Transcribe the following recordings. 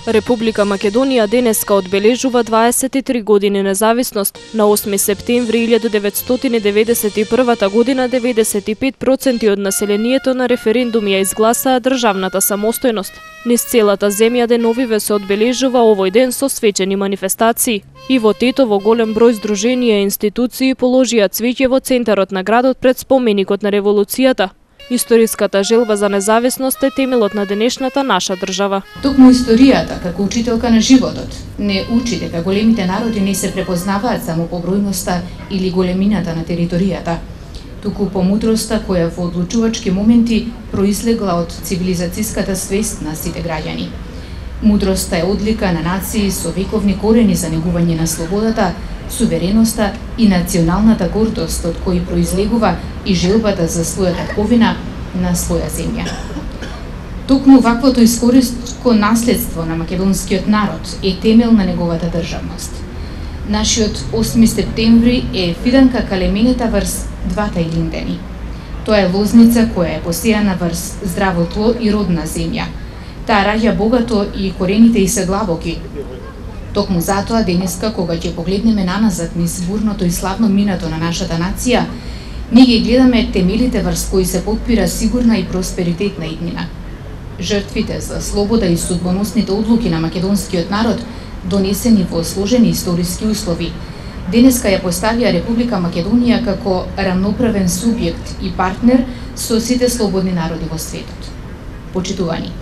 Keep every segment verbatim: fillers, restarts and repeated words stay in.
Република Македонија денеска одбележува дваесет и три години независност. На осми септември илјада деветстотини деветдесет и прва година деветдесет и пет проценти од населението на референдум ја изгласаа државната самостојност. Низ целата земја деновиве се одбележува овој ден со свечени манифестации. И во Тетово голем број здруженија и институции положија цвеќе во центарот на градот пред споменикот на револуцијата. Историската желба за независност е темелот на денешната наша држава. Токму историјата, како учителка на животот, не учи дека големите народи не се препознаваат само по бројноста или големината на територијата, туку по мудроста која во одлучувачки моменти произлегла од цивилизацијската свест на сите граѓани. Мудроста е одлика на нации со вековни корени за негување на слободата, сувереноста и националната гордост од кои произлегува и желбата за својата татковина на своја земја. Токму ваквото историско наследство на македонскиот народ е темел на неговата државност. Нашиот осми септември е фиданка калеменета врз двата илиндени. Тоа е лозница која е посејана врз здраво тло и родна земја. Таа раѓа богато и корените ѝ се длабоки. Токму затоа денеска, кога ќе погледнеме наназад низ бурното и славно минато на нашата нација, ние ги гледаме темелите врз кои се потпира сигурна и просперитетна иднина. Жртвите за слобода и судбоносните одлуки на македонскиот народ, донесени во сложени историски услови, денеска ја поставија Република Македонија како рамноправен субјект и партнер со сите слободни народи во светот. Почитувани,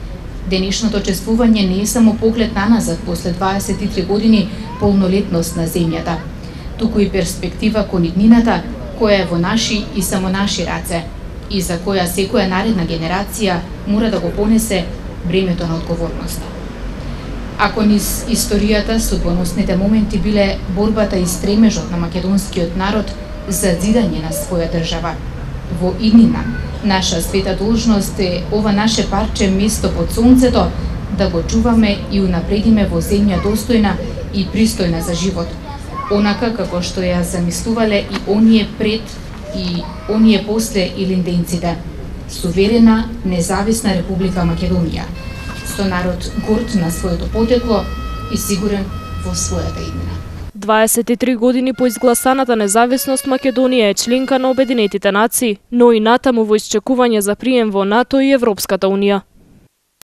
денешното чествување не е само поглед наназад после дваесет и три години полнолетност на земјата, туку и перспектива кон иднината која е во наши и само наши раце и за која секоја наредна генерација мора да го понесе бремето на одговорноста. Ако низ историјата судбоносните моменти биле борбата и стремежот на македонскиот народ за зидање на своја држава, во иднина наша света должност е ова наше парче место под сонцето да го чуваме и унапредиме во земја достојна и пристојна за живот, онака како што ја замислувале и оние пред и оние после илинденците. Суверена, независна Република Македонија, со народ горд на своето потекло и сигурен во својата иднина. дваесет и три години по изгласаната независност Македонија е членка на Обединетите нации, но и натаму во исчекување за прием во НАТО и Европската унија.